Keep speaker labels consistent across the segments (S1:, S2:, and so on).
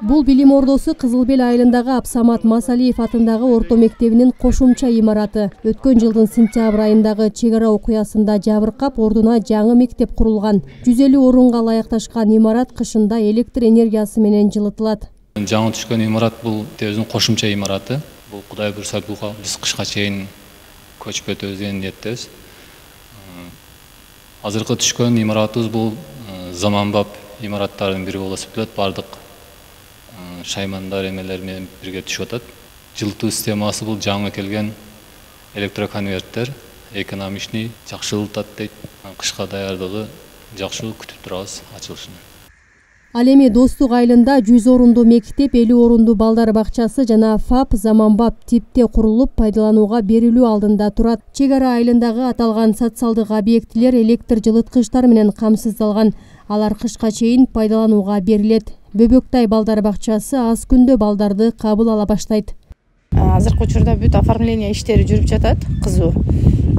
S1: Бул билим ордосу Кызыл Бел айылындагы Абсамат Масалиев атындагы орто мектебинин кошумча имараты. Өткөн жылдын сентябрь айындагы чек ара окуясында жабыркап, ордуна жаңы мектеп курулган. 150 орунга ылайыкташкан имарат кышында электр энергиясы менен жылытылат.
S2: Жаңы түшкөн имарат бул өзүнүн кошумча имараты. Бул Кудай буйрса биз кышка чейин көчүп өтөбүз деген ниеттебиз. Азыркы түшкөн имаратыбыз бул заманбап имараттардын бири болуп эсептелет. Бардык шаймандар эмелер менен бирге түшүп атат. Жылытуу системасы бул жаңы келген электроконверттер, экономичный, жакшы жылытат дейт. Кышка даярдыгы жакшы, күтүп турабыз ачылышын.
S1: Ал эми Достук айылында 100 орундуу мектеп, 50 орундуу балдар бакчасы жана ФАП заманбап типте курулуп пайдаланууга берилүү алдында турат. Чек ара айылындагы аталган социалдык объектилер электр жылыткычтар менен камсыздалган. Алар кышка чейин пайдаланууга берилет. Бөбөктай балдар бакчасы аз күндө балдарды кабыл ала баштайт.
S3: Азыркы учурда бүт оформление иштери жүрүп жатат, кызуу.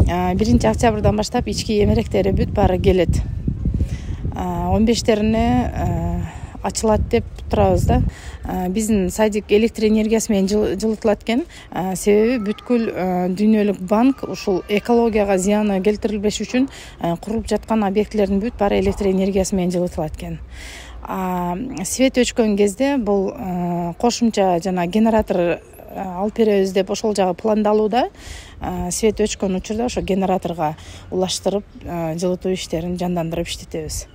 S3: 1 октябрдан баштап ички эмеректери бүт баары келет. 15-терине ачылат деп турабыз да. Биздин садик электр энергиясы менен жылытылат экен. Себеби бүткүл дүйнөлүк банк ушул экологияга зыяны келтирилбеш үчүн курулуп жаткан объектилердин бүт баары электр энергиясы менен жылытылат экен. Свет өчкөн кезде бул кошумча жана генератор алып беребиз деп ошол жагы пландалууда. Свет өчкөн учурда ошо генераторго улаштырып жылытуу иштерин жандандырып иштетебиз.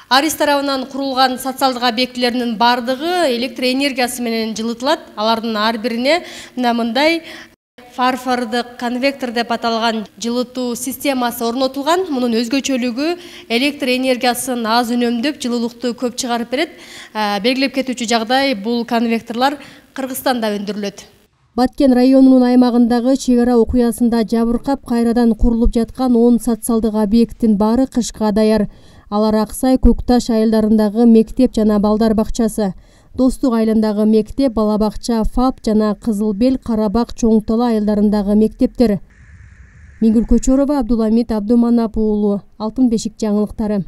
S1: Арис тарабынан курулган социалдык объектилердин бардыгы электр энергиясы менен жылытылат. Алардын ар бирине мындай фарфордук конвектор деп аталган жылытуу системасы орнотулган. Мунун өзгөчөлүгү электр энергиясын аз үнөмдөп, жылуулукту көп чыгарып берет. Белгилеп кетүүчү жагдай бул конвекторлор Кыргызстанда өндүрүлөт. Баткен районунун аймагындагы чек ара окуясында жабыркап кайрадан курулуп жаткан 10 социалдык объекттин баары кышка даяр. Алар Аксай, Көкташ айылдарындагы мектеп жана балдар бакчасы, Достук айылындагы мектеп, бала бакча, ФАП жана Кызыл Бел, Карабак, Чоң Тала айылдарындагы мектептер. Миңгүл Көчөрова, Абдуламит Абдуманап уулу, Алтын бешик жаңылыктары.